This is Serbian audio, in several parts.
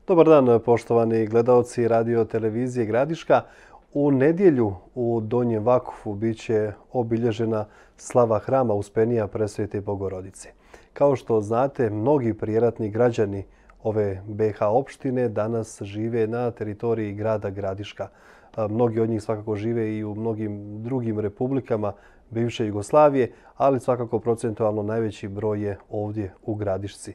Dobar dan, poštovani gledaoci radio televizije Gradiška. U nedjelju u Donjem Vakufu bit će obilježena slava hrama Uspenija Presvete Bogorodice. Kao što znate, mnogi prijeratni građani ove BiH opštine danas žive na teritoriji grada Gradiška. Mnogi od njih svakako žive i u mnogim drugim republikama bivše Jugoslavije, ali svakako procentualno najveći broj je ovdje u Gradišci.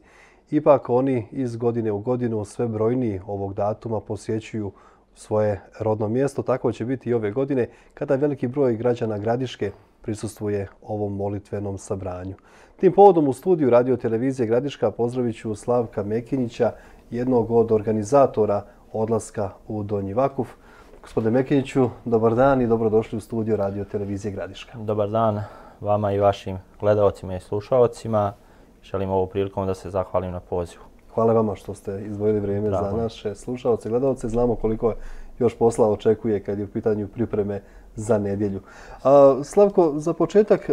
Ipak oni iz godine u godinu sve brojniji ovog datuma posjećuju svoje rodno mjesto. Tako će biti i ove godine kada veliki broj građana Gradiške prisustvuje ovom molitvenom sabranju. Tim povodom u studiju radio televizije Gradiška pozdravit ću Slavka Mekinjića, jednog od organizatora odlaska u Donji Vakuf. Gospodine Mekinjiću, dobar dan i dobrodošli u studio radio televizije Gradiška. Dobar dan vama i vašim gledaocima i slušaocima. Želim ovom prilikom da se zahvalim na pozivu. Hvala vama što ste izdvojili vrijeme za naše slušaoce i gledaoce. Znamo koliko još posla očekuje kad je u pitanju pripreme za nedjelju. Slavko, za početak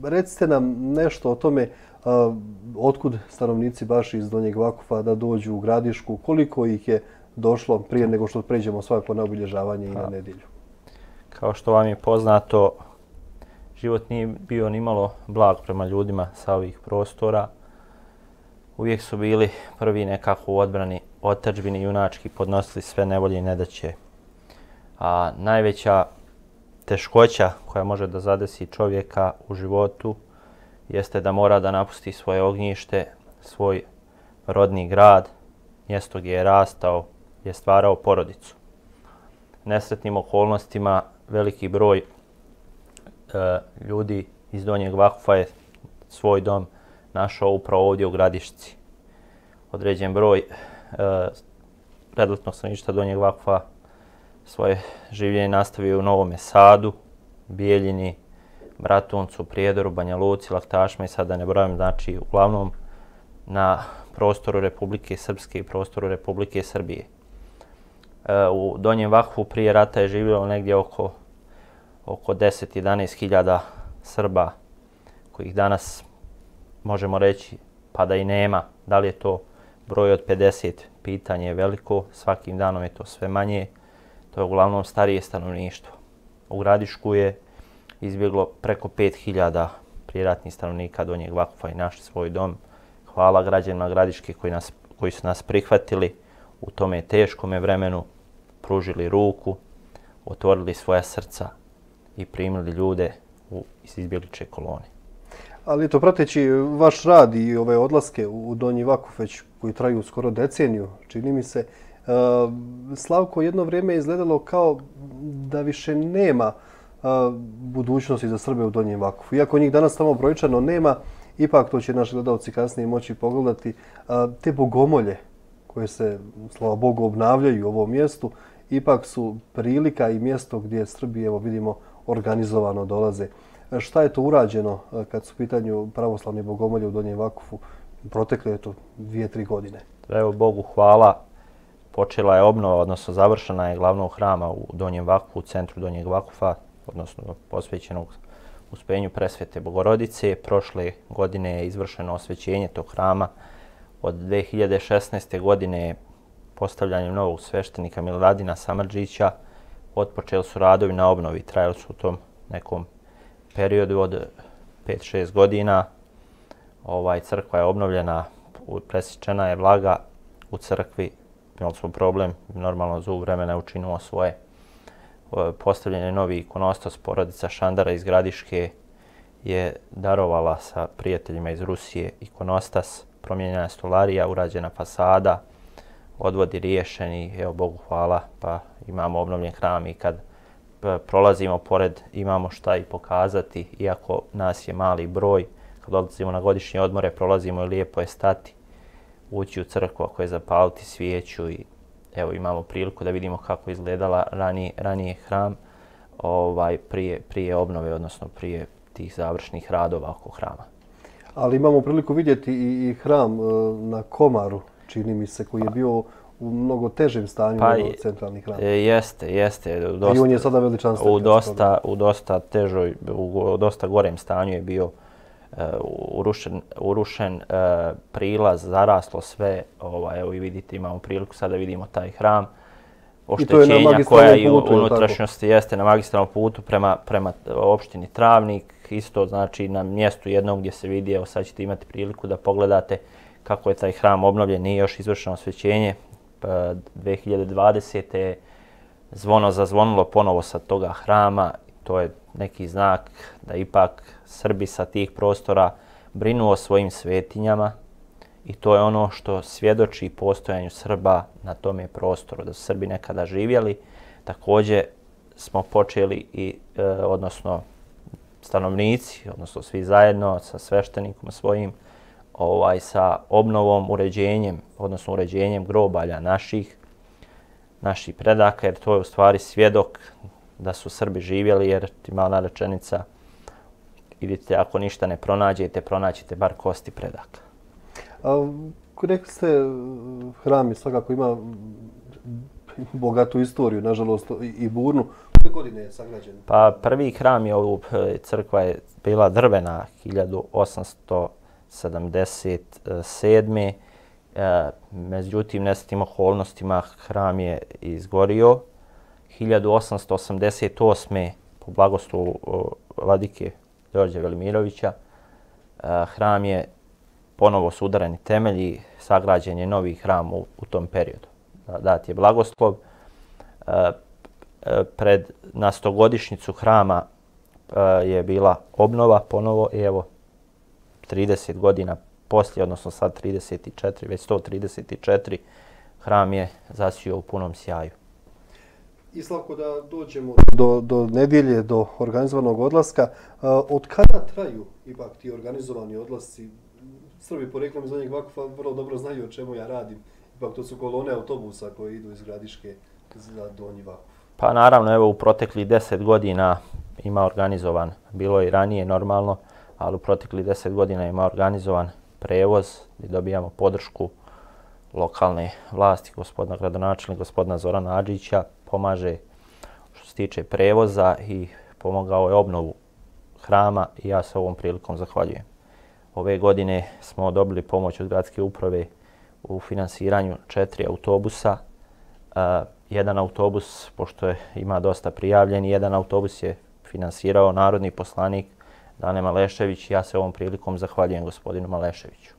recite nam nešto o tome otkud stanovnici baš iz Donjeg Vakufa da dođu u Gradišku, koliko ih je došlo prije nego što pređemo svako na obilježavanje i na nedjelju. Kao što vam je poznato, život nije bio nimalo blag prema ljudima sa ovih prostora. Uvijek su bili prvi nekako u odbrani otadžbini, junački podnosili sve nevolje i nedaće. A najveća teškoća koja može da zadesi čovjeka u životu jeste da mora da napusti svoje ognjište, svoj rodni grad, mjesto gdje je rastao, gdje je stvarao porodicu. Nesretnim okolnostima veliki broj ljudi iz Donjeg Vakufa je svoj dom našao upravo ovdje u Gradišci. Određen broj predletnog stanovništva Donjeg Vakufa svoje življenje nastavio u Novome Sadu, Bijeljini, Bratuncu, Prijedoru, Banja Luci, Laktašima i sada ne brojim, znači uglavnom na prostoru Republike Srpske i prostoru Republike Srbije. U Donjem Vakufu prije rata je živjelo negdje oko 10-11 hiljada Srba kojih danas možemo reći pa da i nema. Da li je to broj od 50, pitanje je veliko, svakim danom je to sve manje. To je uglavnom starije stanovništvo. U Gradišku je izbjeglo preko 5000 prijeratnih stanovnika Donjeg Vakufa i našli svoj dom. Hvala građanima Gradiške koji su nas prihvatili u tome teškome vremenu, pružili ruku, otvorili svoja srca i primili ljude iz izbjegličke kolone. Ali to prateći vaš rad i ove odlaske u Donji Vakuf već koji traju skoro deceniju, čini mi se, Slavko, jedno vrijeme je izgledalo kao da više nema budućnosti za Srbe u Donjem Vakufu. Iako njih danas tamo brojčano nema, ipak to će naši gledalci kasnije moći pogledati. Te bogomolje koje se, slava Bogu, obnavljaju u ovom mjestu, ipak su prilika i mjesto gdje Srbi, evo vidimo, organizovano dolaze. Šta je to urađeno kad su u pitanju pravoslavni bogomolje u Donjem Vakufu? Protekle je to 2-3 godine. Evo Bogu hvala. Počela je obnova, odnosno završena je glavnog hrama u Donjem Vakufu, u centru Donjeg Vakufa, odnosno posvećenog Uspenju Presvete Bogorodice. Prošle godine je izvršeno osvećenje tog hrama. Od 2016. godine postavljanjem novog sveštenika Miladina Samardžića otpočeli su radovi na obnovi. Trajali su u tom nekom periodu od 5-6 godina. Crkva je obnovljena, presječena je vlaga u crkvi. Imali smo problem, normalno zub vremena učinilo svoje. Postavljen je novi ikonostas, porodica Šandara iz Gradiške je darovala sa prijateljima iz Rusije ikonostas, promijenjena je stolarija, urađena fasada, odvodi riješeni, evo Bogu hvala, pa imamo obnovljen hram i kad prolazimo pored imamo šta i pokazati, iako nas je mali broj. Kad odlazimo na godišnje odmore, prolazimo i lijepo je stati, ući u crkvu ako je zapaliti svijeću i evo imamo priliku da vidimo kako je izgledala ranije hram prije obnove, odnosno prije tih završnih radova oko hrama. Ali imamo priliku vidjeti i hram na Komaru, čini mi se, koji je bio u mnogo težem stanju nego centralni hram. Jeste. I on je sada veličanstven. U dosta gorem stanju je bio urušen prilaz, zaraslo sve. Evo i vidite, imamo priliku sada vidimo taj hram. Oštećenja koja i u unutrašnjosti jeste na magistralnom putu prema opštini Travnik. Isto znači na mjestu jednom gdje se vidi, evo sad ćete imati priliku da pogledate kako je taj hram obnovljen, nije još izvršeno osvećenje. 2020. je zvono zazvonilo ponovo sa toga hrama. To je neki znak da ipak Srbi sa tih prostora brinu o svojim svetinjama i to je ono što svjedoči postojanju Srba na tome prostoru, da su Srbi nekada živjeli. Također smo počeli odnosno stanovnici, odnosno svi zajedno sa sveštenikom svojim, sa obnovom, uređenjem grobalja naših predaka, jer to je u stvari svjedok da su Srbi živjeli, jer ima ona rečenica, idite, ako ništa ne pronađete, pronaćete bar kosti predaka. Rekli ste, hram svakako ima bogatu istoriju, nažalost i burnu. Koje godine je sagrađen? Pa prvi hram je, crkva je bila drvena 1877. Međutim, nesretnim okolnostima hram je izgorio. 1888. po blagoslovu vladike Đorđa Velimirovića hram je ponovo su udareni temelji, sagrađen je novi hram u tom periodu. Dat je blagoslov. Na 100-godišnjicu hrama je bila obnova ponovo i evo 30 godina poslije, odnosno sad 34, već 134, hram je zasijao u punom sjaju. I Slavko, da dođemo do nedjelje, do organizovanog odlaska. Od kada traju ipak ti organizovani odlasci? Srbi poreklom iz Donjeg Vakufa vrlo dobro znaju o čemu ja radim. Ipak to su kolone autobusa koje idu iz Gradiške za Donji Vakuf. Pa naravno, evo u proteklih 10 godina ima organizovan, bilo je i ranije normalno, ali u proteklih 10 godina ima organizovan prevoz gdje dobijamo podršku lokalne vlasti, gospodina gradonačelnika, gospodina Zorana Adžića, pomaže što se tiče prevoza i pomogao je obnovu hrama i ja se ovom prilikom zahvaljujem. Ove godine smo dobili pomoć od gradske uprave u finansiranju 4 autobusa. Jedan autobus, pošto ima dosta prijavljeni, jedan autobus je finansirao narodni poslanik Dane Malešević. Ja se ovom prilikom zahvaljujem gospodinu Maleševiću.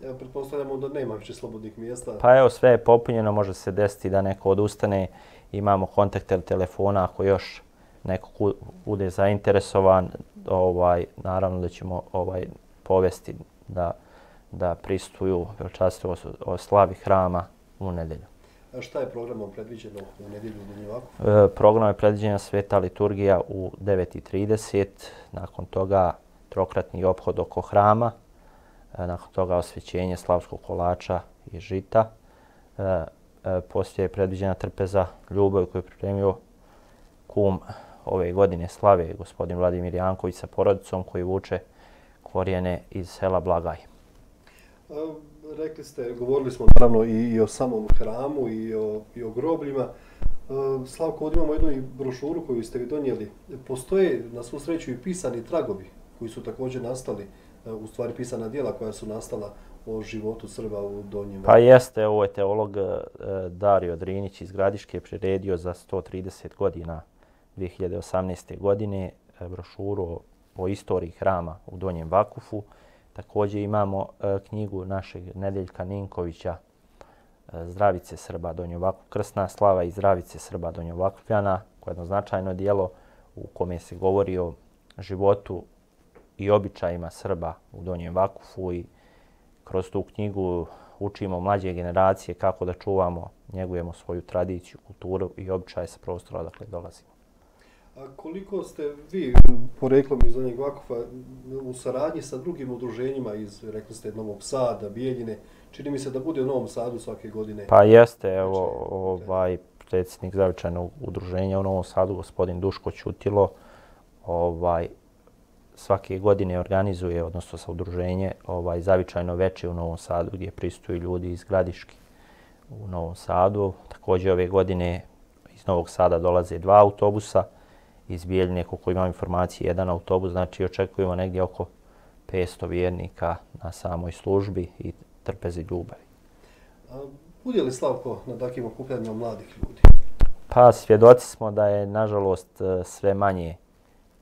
Ja pretpostavljamo da nema više slobodnih mjesta. Pa evo, sve je popunjeno, može se desiti da neko odustane. Imamo kontakte telefona ako još neko bude zainteresovan. Naravno da ćemo povesti da pristuju veličanstveno o slavi hrama u nedjelju. A šta je programom predviđeno u nedjelju u Donjem Vakufu? Program je predviđena sveta liturgija u 9:30, nakon toga trokratni ophod oko hrama, nakon toga osvećenje slavskog kolača i žita. Poslije je predviđena trpeza ljubav koju je pripremio kum ove godine slave, gospodin Vladimir Janković sa porodicom koji vuče korijene iz sela Blagaj. Rekli ste, govorili smo naravno i o samom hramu i o grobljima. Slavko, ovdje imamo jednu brošuru koju ste vi donijeli. Postoje na svu sreću i pisani tragovi koji su također nastali, u stvari pisana djela koja su nastala o životu Srba u Donjem Vakufu. Pa jeste, ovo je teolog Dario Drinić iz Gradiške priredio za 130 godina 2018. godine brošuru o istoriji hrama u Donjem Vakufu. Također imamo knjigu našeg Nedeljka Ninkovića Zdravice Srba Donjeg Vakufa, Krsna slava i Zdravice Srba Donjeg Vakufljana, koje je jedno značajno dijelo u kome se govori o životu i običajima Srba u Donjem Vakufu i kroz tu knjigu učimo mlađe generacije kako da čuvamo, njegujemo svoju tradiciju, kulturu i običaje sa prostora odakle dolazimo. A koliko ste vi poreklom iz Donjeg Vakufa u saradnji sa drugim udruženjima iz, rekli ste, Novog Sada, Bijeljine, čini mi se da bude u Novom Sadu svake godine? Pa jeste, evo, predsjednik zavičajnog udruženja u Novom Sadu, gospodin Duško Ćutilo, svake godine organizuje, odnosno sa udruženje, zavičajno veče u Novom Sadu gdje pristuju ljudi iz Gradiške u Novom Sadu. Također ove godine iz Novog Sada dolaze 2 autobusa, iz Bijeljine, koliko imam informacije, 1 autobus, znači očekujemo negdje oko 500 vjernika na samoj službi i trpezi ljubavi. Bude li Slavko na takvim okupljanjima mladih ljudi? Pa svjedoci smo da je nažalost sve manje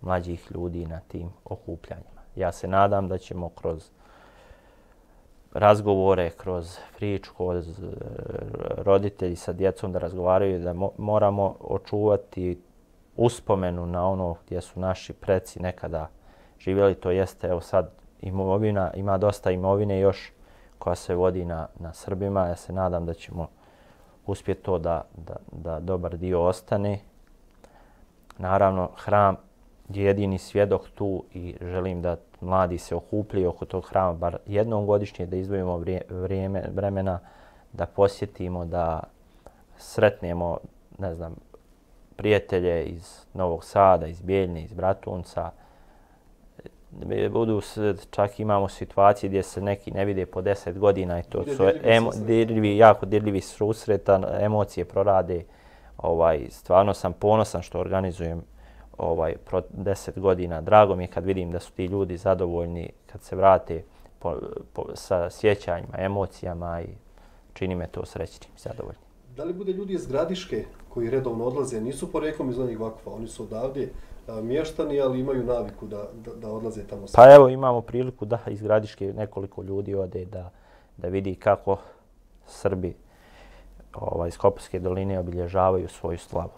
mlađih ljudi na tim okupljanjima. Ja se nadam da ćemo kroz razgovore, kroz priču, kroz roditelji sa djecom da razgovaraju, da moramo očuvati uspomenu na ono gdje su naši preci nekada živjeli. To jeste, evo sad imovina, ima dosta imovine još koja se vodi na Srbima. Ja se nadam da ćemo uspjeti to da dobar dio ostane. Naravno, hram je jedini svjedok tu i želim da mladi se okupljaju oko tog hrama bar jednom godišnje, da izdvojimo vremena, da posjetimo, da sretnemo, ne znam, prijatelje iz Novog Sada, iz Bijeljine, iz Bratunca. Čak imamo situacije gdje se neki ne vide po 10 godina i to su jako dirljivi susreta, emocije prorade. Stvarno sam ponosan što organizujem 10 godina. Drago mi je kad vidim da su ti ljudi zadovoljni, kad se vrate sa sjećanjima, emocijama i čini me to srećnim i zadovoljnim. Da li bude ljudi iz Gradiške koji redovno odlaze, nisu poreklom iz Donjeg Vakufa, oni su odavdje mještani, ali imaju naviku da odlaze tamo? Pa evo, imamo priliku da iz Gradiške nekoliko ljudi ode da vidi kako Srbi iz Koparske doline obilježavaju svoju slavu.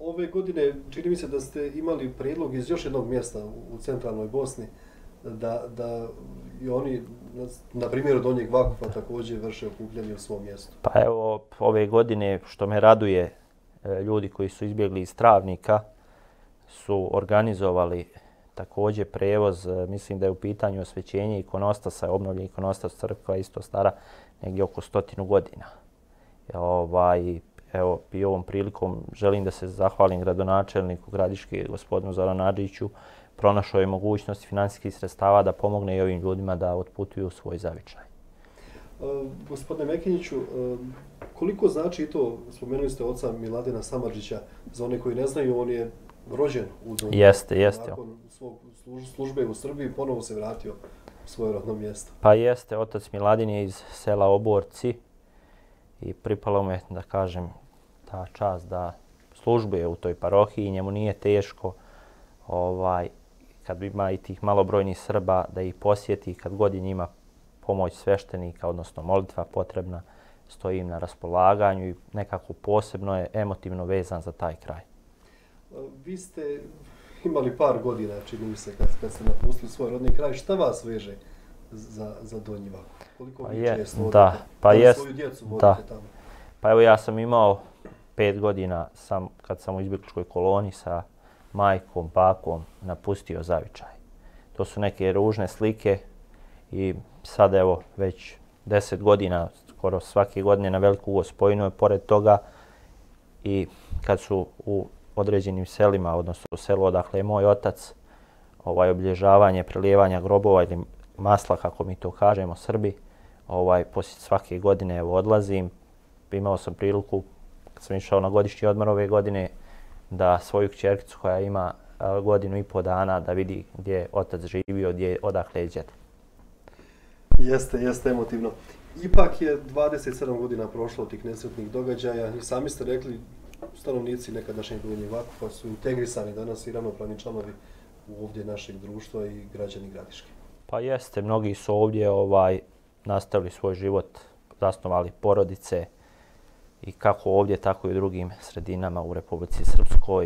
Ove godine čini mi se da ste imali prijedlog iz još jednog mjesta u centralnoj Bosni da i oni, na primjeru Donjeg Vakufa, također vrše okupljanje u svom mjestu. Pa evo, ove godine, što me raduje, ljudi koji su izbjegli iz Travnika su organizovali također prevoz. Mislim da je u pitanju osvećenje ikonostasa, obnovljen ikonostas crkva isto stara negdje oko 100 godina. Evo, i ovom prilikom želim da se zahvalim gradonačelniku Gradiške, gospodinu Zoranu Adžiću, pronašao je mogućnost finansijskih sredstava da pomogne i ovim ljudima da otputuju svoj zavičaj. Gospodine Mekiniću, koliko znači to, spomenuli ste oca Miladina Samardžića, za one koji ne znaju, on je rođen u Donjem. Jeste. Nakon svog službe u Srbiji ponovo se vratio u svoje rodno mjesto. Pa jeste, otac Miladin je iz sela Oborci i pripalo me, da kažem, ta čast da službuje u toj parohiji i njemu nije teško kad ima i tih malobrojnih Srba da ih posjeti, kad god je njima pomoć sveštenika, odnosno molitva potrebna, stoji im na raspolaganju i nekako posebno je emotivno vezan za taj kraj. Vi ste imali par godina, čini mi se, kad ste napustili svoj rodni kraj. Šta vas veže za Donji Vakuf? Koliko vi često odete? Svoju djecu vodite tamo? Pa evo, ja sam imao 5 godina kad sam u izbjegličkoj koloni sa majkom, bakom napustio zavičaj. To su neke ružne slike i sad evo već 10 godina, skoro svake godine na Veliku Gospojinu je pored toga i kad su u određenim selima, odnosno u selu odakle je moj otac, obilježavanje, prelijevanja grobova ili masla, kako mi to kažemo Srbi, poslije svake godine evo odlazim. Imao sam priliku, kad sam išao na godišnji odmor ove godine, da svoju kćerkicu koja ima 1,5 godinu dana da vidi gdje je otac živio, odakle je djed. Jeste emotivno. Ipak je 27 godina prošlo od tih nesretnih događaja i sami ste rekli, stanovnici nekadašnjeg Donjeg Vakufa su integrisani danas i ravnopravni članovi ovdje našeg društva i građani Gradiške. Pa jeste, mnogi su ovdje nastavili svoj život, zasnovali porodice i kako ovdje, tako i u drugim sredinama u Republici Srpskoj